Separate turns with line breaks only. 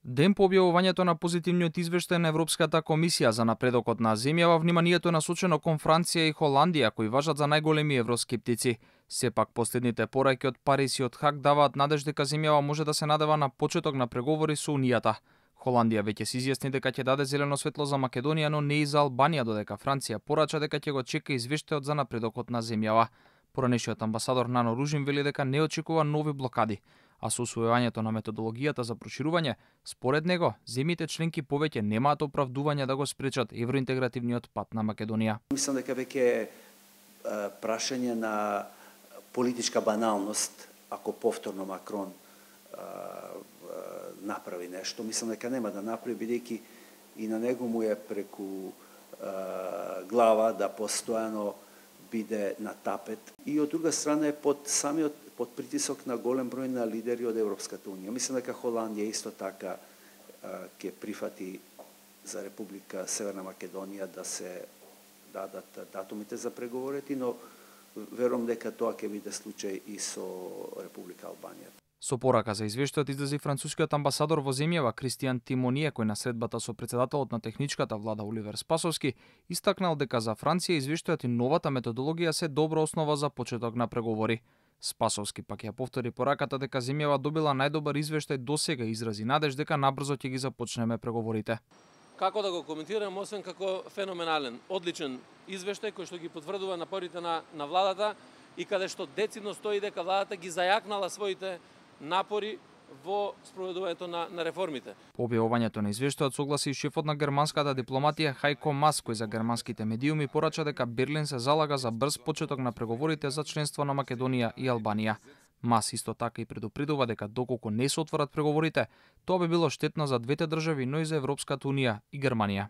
Ден по објавувањето на позитивниот извештај на Европската комисија за напредокот на земјава, вниманието е насочено кон Франција и Холандија, кои важат за најголеми евроскептици. Сепак последните пораки од Париз и од Хаг даваат надеж дека земјава може да се надева на почеток на преговори со Унијата. Холандија веќе се изјасни дека ќе даде зелено светло за Македонија, но не и за Албанија, додека Франција порача дека ќе го чека извештајот за напредокот на земјава. Поранешниот амбасадор Нано Ружин вели дека не очекува нови блокади, а со усвојувањето на методологијата за проширување, според него, земјите членки повеќе немаат оправдување да го спречат евроинтегративниот пат на Македонија.
Мислам дека веќе е прашање на политичка баналност ако повторно Макрон направи нешто. Мислам дека нема да направи, бидејќи и на него му е преку глава да постојано биде на тапет. И од друга страна е под притисок на голем број на лидери од Европската унија. Мислам дека Холандија исто така ќе прифати за Република Северна Македонија да се дадат датумите за преговорите, но верувам дека тоа ќе биде случај и со Република Албанија.
Со порака за извештајот излезе францускиот амбасадор во земјава Кристијан Тимоние, кој на средбата со претседателот на техничката влада Оливер Спасовски истакнал дека за Франција извештајот и новата методологија се добра основа за почеток на преговори. Спасовски пак ја повтори пораката дека земјава добила најдобар извештај досега и изрази надеж дека набрзо ќе ги започнеме преговорите.
Како да го коментирам, освен како феноменален, одличен извештај кој што ги потврдува напорите на владата и каде што децидно стои дека владата ги зајакнала своите напори во спроведувањето на реформите.
По објавувањето на извештајот согласи и шефот на германската дипломатија Хајко Мас, кој за германските медиуми порача дека Берлин се залага за брз почеток на преговорите за членство на Македонија и Албанија. Мас исто така и предупредува дека доколку не се отворат преговорите, тоа би било штетно за двете држави, но и за Европската унија и Германија.